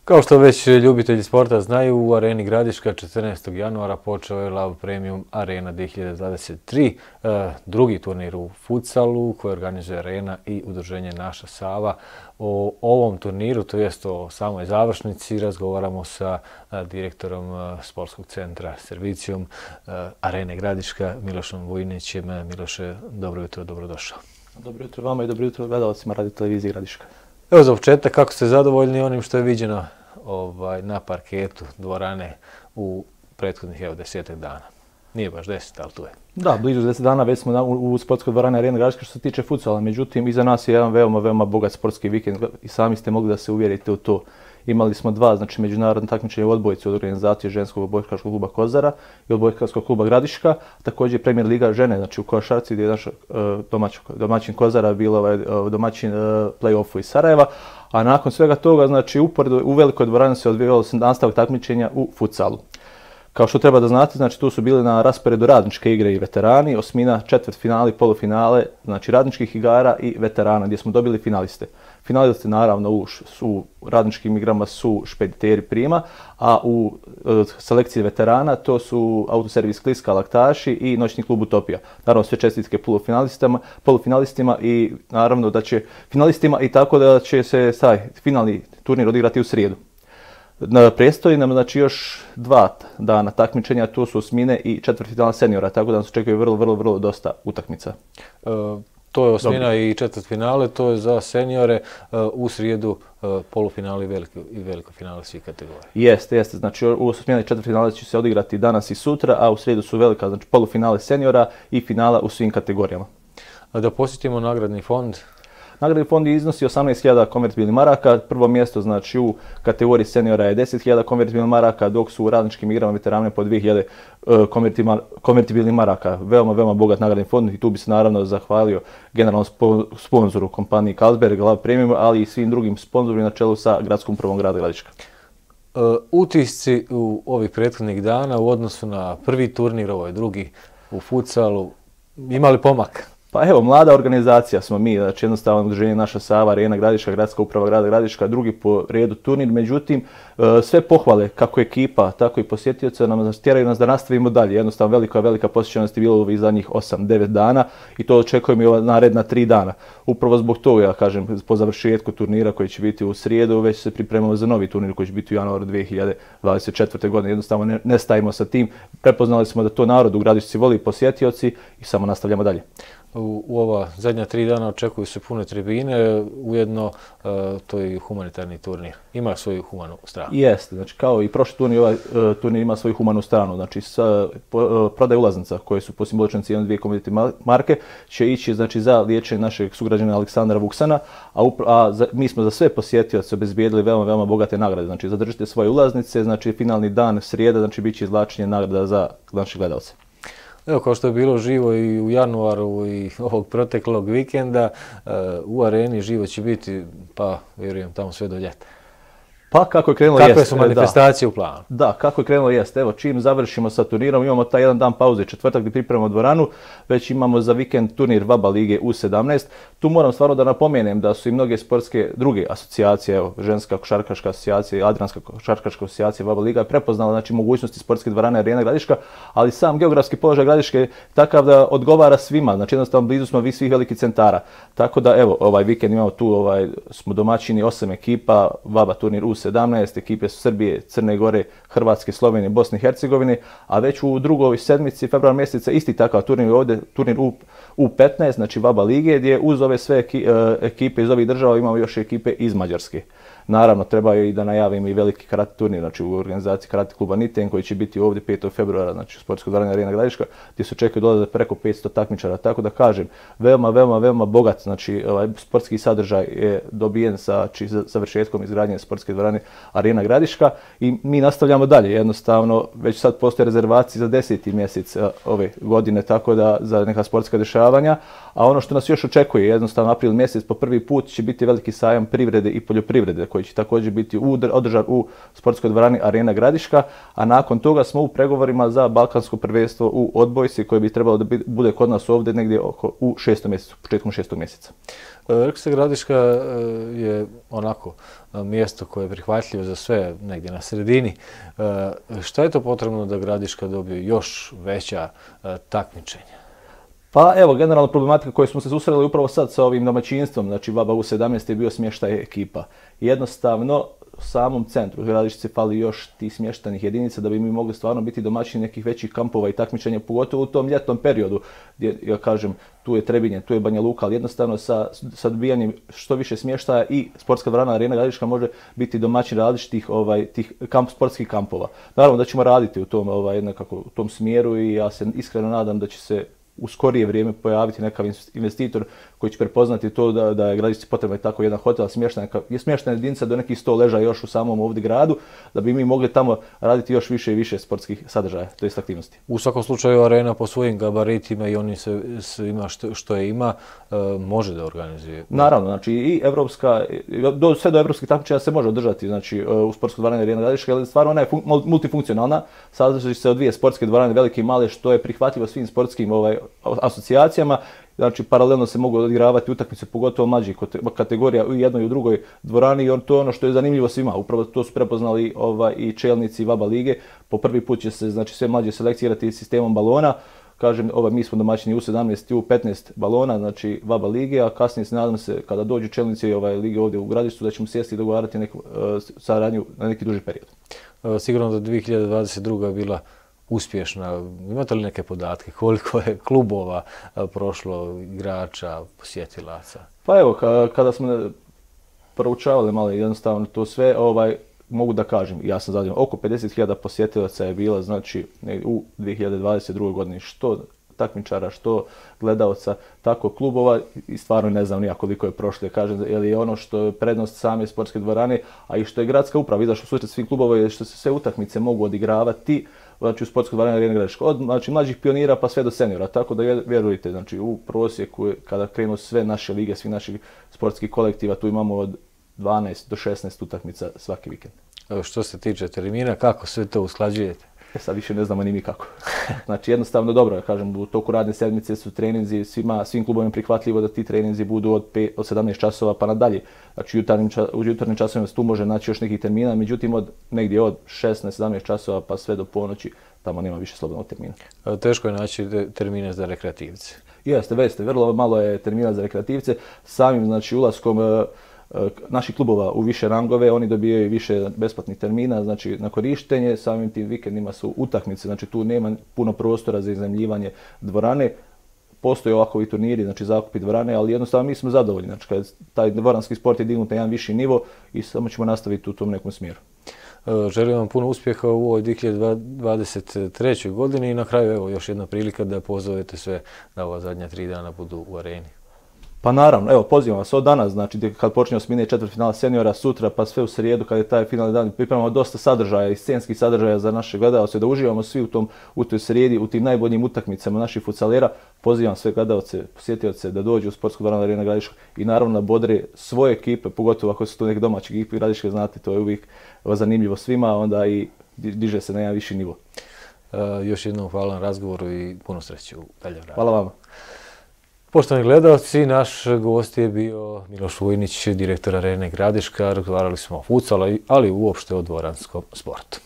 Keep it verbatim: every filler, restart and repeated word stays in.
Kao što već ljubitelji sporta znaju, u Areni Gradiška četrnaestog januara počeo je Love Premium Arena dvije hiljade dvadeset tri, drugi turnir u futsalu koji organizuje Arena i udruženje Naša Sava. O ovom turniru, to jest o samoj završnici, razgovaramo sa direktorom sportskog centra Servicijom Arene Gradiška, Milošom Vujinićem. Miloše, dobro jutro, dobrodošao. Dobro jutro vama i dobro jutro gledalcima Radio televizije Gradiška. Evo za početak, kako ste zadovoljni onim što je viđeno ovaj, na parketu dvorane u prethodnih evo desetak dana? Nije baš deset, ali tu je. Da, blizu deset dana već smo u, u sportskoj dvorani Arena Gradiška što se tiče futsala. Međutim, iza nas je jedan veoma, veoma bogat sportski vikend i sami ste mogli da se uvjerite u to. Imali smo dva, znači međunarodno takmičenje u odbojci od organizacije ženskog odbojkaškog kluba Kozara i odbojkaškog kluba Gradiška, također Premier Liga žene, znači u košarci gdje je naš uh, domać, domaćin Kozara bilo ovaj, uh, domaćin uh, play-offu iz Sarajeva, a nakon svega toga, znači uporedo u velikoj dvorani se odvijalo nastavak takmičenja u futsalu. Kao što treba da znate, znači tu su bili na rasporedu radničke igre i veterani, osmina, četvrtfinali, polufinale, znači radničkih igara i veterana gdje smo dobili finaliste. Finalisti naravno u, u radničkim igrama su Špediteri Prima, a u e, selekciji veterana to su Autoservis Kliska, Laktaši i Noćni klub Utopija. Naravno sve čestitke polufinalistima, polufinalistima i naravno da će finalistima i tako da će se taj finalni turnir odigrati u srijedu. Predstoji nam znači još dva dana takmičenja, to su osmine i četvrtfinala seniora, tako da nas očekuje vrlo, vrlo, vrlo dosta utakmica. E, to je osmina Dobro. I četvrtfinale, to je za seniore, e, u srijedu e, polufinale i veliko, i veliko finale svih kategorija. Jeste, jeste, znači u osmina i četvrtfinale će se odigrati danas i sutra, a u srijedu su velika, znači polufinale seniora i finala u svim kategorijama. Da posjetimo nagradni fond. Nagradni fond iznosi osamnaest hiljada konvertibilnih maraka, prvo mjesto znači u kategoriji seniora je deset hiljada konvertibilnih maraka, dok su u radničkim igrama veterane po dvije hiljade uh, konvertibilnih maraka. Veoma, veoma bogat nagradni fond i tu bi se naravno zahvalio generalnom spo, sponzoru kompaniji Carlsberg, Love Premium, ali i svim drugim sponzorima na čelu sa gradskom upravom grada Gradiška. Uh, utisci u ovih prethodnih dana u odnosu na prvi turnir, ovo je drugi u futsalu, imali pomak? Pa evo, mlada organizacija smo mi, znači jednostavno udruženje Naša Sava, Arena Gradiška, gradska uprava grada Gradiška, drugi po redu turnir, međutim sve pohvale kako ekipa, tako i posjetioca nam tjeraju nas da nastavimo dalje. Jednostavno velika, velika posjećenost je bilo u ovih zadnjih osam devet dana i to očekujemo i ova naredna tri dana. Upravo zbog toga, ja kažem, po završetku turnira koji će biti u srijedu, već se pripremamo za novi turnir koji će biti u januaru dvije hiljade dvadeset četvrte. godine. Jednostavno ne, ne stajimo sa tim, prepoznali smo da to narod u Gradišci voli, posjetioci i samo nastavljamo dalje. U, u ova zadnja tri dana očekuju se pune tribine, ujedno uh, to je i humanitarni turnir. Ima svoju humanu stranu. Jeste, znači kao i prošli turnir, ovaj uh, turnir ima svoju humanu stranu. Znači sa, po, uh, prodaj ulaznica koje su po simboličnoj cijeni dvije komoditi marke će ići znači, za liječenje našeg sugrađana Aleksandra Vuksana, a, upra, a za, mi smo za sve posjetioce obezbijedili veoma, veoma bogate nagrade. Znači zadržite svoje ulaznice, znači finalni dan srijeda, znači bit će izvlačenje nagrada za naše gledalce. Evo, kao što je bilo živo i u januaru i ovog proteklog vikenda, u Areni živo će biti, pa vjerujem, tamo sve do ljeta. Pa kako je krenulo Kakve jeste. su manifestacije da. u planu? Da, kako je krenulo jeste. Evo, čim završimo sa turnirom, imamo taj jedan dan pauze, četvrtak gdje pripremamo dvoranu, već imamo za vikend turnir VABA lige U sedamnaest. Tu moram stvarno da napomenem da su i mnoge sportske druge asocijacije, evo, ženska košarkaška asocijacija, Adrianska košarkaška asocijacija VABA liga je prepoznala znači, mogućnosti sportske dvorane Arena Gradiška, ali sam geografski položaj Gradiške je takav da odgovara svima, znači jednostavno blizu smo vi svih velikih centara. Tako da evo, ovaj vikend imamo tu, ovaj, smo domaćini osam ekipa, VABA turnir U sedamnaest, ekipe su Srbije, Crne Gore, Hrvatske, Slovenije, Bosne i Hercegovine, a već u drugoj sedmici februar mjeseca isti takav turnir ovdje, turnir U petnaest, znači VABA lige, gdje uz ove sve ekipe iz ovih država imamo još ekipe iz Mađarske. Naravno, treba i da najavimo i veliki karate turnir, znači u organizaciji karate kluba Niten, koji će biti ovdje petog februara, znači u sportskoj dvorani Arena Gradiška, gdje se očekuje dolazak preko petsto takmičara. Tako da kažem, veoma, veoma, veoma bogat, znači ovaj sportski sadržaj je dobijen sa či, završetkom izgradnje sportske dvorane Arena Gradiška i mi nastavljamo dalje. Jednostavno, već sad postoje rezervacije za deseti mjesec ove godine, tako da za neka sportska dešavanja, a ono što nas još očekuje, jednostavno april mjesec po prvi put će biti veliki sajam privrede i poljoprivrede koji koji će također biti održan u sportskoj dvorani Arena Gradiška, a nakon toga smo u pregovorima za balkansko prvenstvo u odbojci koje bi trebalo da bude kod nas ovdje negdje oko u šestom mjesecu, početkom šestog mjeseca. Rekli ste, Gradiška je onako mjesto koje je prihvatljivo za sve, negdje na sredini. Šta je to potrebno da Gradiška dobije još veća takmičenja? Pa evo, generalna problematika koju smo se susreli upravo sad sa ovim domaćinstvom, znači VABA U sedamnaest je bio smještaj ekipa. Jednostavno, u samom centru Gradišci fali još tih smještajnih jedinica da bi mi mogli stvarno biti domaćini nekih većih kampova i takmičenja, pogotovo u tom ljetnom periodu, gdje, ja kažem, tu je Trebinje, tu je Banja Luka, ali jednostavno sa, sa dobijanjem što više smještaja i sportska dvorana Arena Gradiška može biti domaćin različitih ovaj, tih kamp, sportskih kampova. Naravno da ćemo raditi u tom, ovaj, nekako, u tom smjeru i ja se iskreno nadam da će se u skorije vrijeme pojaviti nekav investitor koji će prepoznati to da, da je Gradišci potrebno je tako jedan hotel, smještena je smještena jedinica do nekih sto leža još u samom ovdje gradu, da bi mi mogli tamo raditi još više i više sportskih sadržaja, to jest aktivnosti. U svakom slučaju Arena po svojim gabaritima i oni se, se ima što, što je ima, e, može da organizuje. Naravno, znači i evropska, do, sve do evropskih takmičenja se može održati, znači u sportskoj dvorani Arena Gradiška, ali stvarno ona je fun, multifunkcionalna, sastoji se od dvije sportske dvorane, velike i male, što je prihvatljivo svim sportskim ovaj, asocijacijama. Znači, paralelno se mogu odigravati utakmice, pogotovo mlađih kategorija u jednoj i u drugoj dvorani i to je ono što je zanimljivo svima. Upravo to su prepoznali ovaj, i čelnici VABA lige. Po prvi put će se znači, sve mlađe selekcije igrati sistemom balona. Kažem, ovaj, mi smo domaćini U sedamnaest i U petnaest balona, znači VABA lige, a kasnije se nadam se kada dođu čelnici ovaj, lige ovdje u Gradištu da ćemo sjesti i dogovarati neku uh, saradnju na neki duži period. Sigurno da dvije hiljade dvadeset druga je bila uspješna. Imate li neke podatke koliko je klubova prošlo, igrača, posjetilaca? Pa evo, kada smo proučavali malo jednostavno to sve, ovaj, mogu da kažem, ja sam zadovoljan, oko pedeset hiljada posjetilaca je bila, znači u dvije hiljade dvadeset drugoj godini, što takmičara, što gledalca, tako klubova i stvarno ne znam nija koliko je prošlo, kažem, jer je ono što je prednost same sportske dvorane, a i što je gradska uprava izašla u susret svih klubova je što se sve utakmice mogu odigravati, znači u sportskoj dvorani Arena Gradiška, od znači, mlađih pionira pa sve do seniora, tako da vjerujte, znači u prosjeku kada krenu sve naše lige, svi naših sportskih kolektiva, tu imamo od dvanaest do šesnaest utakmica svaki vikend. Što se tiče termina, kako sve to usklađujete? E sad više ne znamo ni mi kako. Znači jednostavno dobro, ja kažem, u toku radne sedmice su treninzi, svima, svim klubovima prihvatljivo da ti treninzi budu od, pet, od sedamnaest časova pa nadalje. Znači jutarnjim, u jutarnjim časovima tu može naći još nekih termina, međutim od negdje od šesnaest sedamnaest časova pa sve do ponoći tamo nema više slobodnog termina. Teško je naći termine za rekreativce. Jeste, veste, vrlo malo je termina za rekreativce. Samim znači ulaskom naših klubova u više rangove, oni dobijaju više besplatnih termina, znači na korištenje, samim tim vikendima su utakmice, znači tu nema puno prostora za iznajmljivanje dvorane. Postoje ovakvi turniri, znači zakupi dvorane, ali jednostavno mi smo zadovoljni, znači kad taj dvoranski sport je dignut na jedan viši nivo i samo ćemo nastaviti u tom nekom smjeru. Želim vam puno uspjeha u ovoj dvije hiljade dvadeset trećoj godini i na kraju evo još jedna prilika da pozovete sve da ova zadnja tri dana budu u areni. Pa naravno, evo pozivam vas od danas, znači kad počne osmine četvrtfinala seniora, sutra pa sve u srijedu kad je taj finalni dan, pripremamo dosta sadržaja i scenskih sadržaja za naše gledalce, da uživamo svi u, tom, u toj srijedi, u tim najboljim utakmicama naših futsalera. Pozivam sve gledalce, posjetioce da dođu u sportsku dvoranu Arena Gradiška i naravno da bodre svoje ekipe, pogotovo ako su to neke domaće ekipe Gradiške, znate, to je uvijek zanimljivo svima, onda i diže se na jedan viši nivo. Uh, još jednom hvala na razgovoru i puno sreće u daljem radu. Hvala vama. Poštovani gledalci, naš gost je bio Miloš Vujnić, direktor Arene Gradiška. Razgovarali smo o futsalu, ali uopšte o dvoranskom sportu.